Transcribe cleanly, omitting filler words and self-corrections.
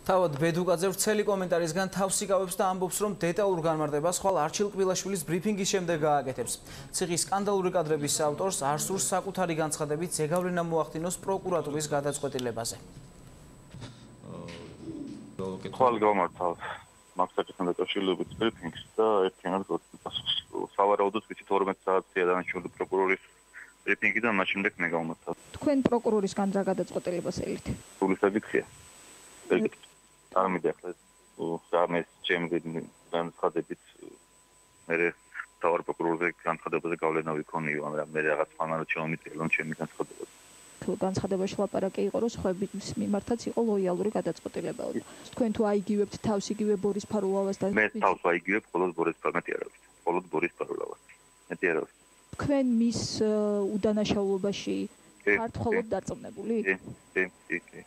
თავად ბედუკაძე ვრცელი კომენტარისგან თავს იკავებს და ამბობს, რომ დეტალურ განმარტებას ხვალ არჩილ კბილაშვილის ბრიფინგის შემდეგ გააკეთებს. ციხის სკანდალური კადრების ავტორს არ სურს საკუთარი განცხადებით ზეგავლენა მოახდინოს პროკურატურის გადაწყვეტილებაზე. ხვალ გამართავთ მაგსაკეთთან დაკავშირებით ბრიფინგს და ერთიანად გასვს. სავარაუდოდ ვიცით 12 საათია დანარჩენი პროკურორის ბრიფინგიდან მას შემდეგ მე გავმართავ. თქვენ პროკურორისგან რა გადაწყვეტილებას ელით? სული საკითხია. არ მიდიხარ სამეს ჩემი განცხადებით მე თავარ პროკურორზე განცხადებაზე გავლენა ვიქონიო, მაგრამ მე რაღაც ფანად შემომიწელო ჩემი განცხადებაზე. თუ განცხადებაში ლაპარაკი იყო, რომ სხვების მიმართაც იყო ლოიალური გადაწყვეტილება. თქვენ თუ აიგივებთ თავს იგივე ბორის ფარულავას და მე თავს აიგივებ მხოლოდ ბორის ფარულავას. მხოლოდ ბორის ფარულავას. მეტი არ არის. თქვენ მის უდანაშაულობაში ხართ მხოლოდ დარწმუნებული? კი.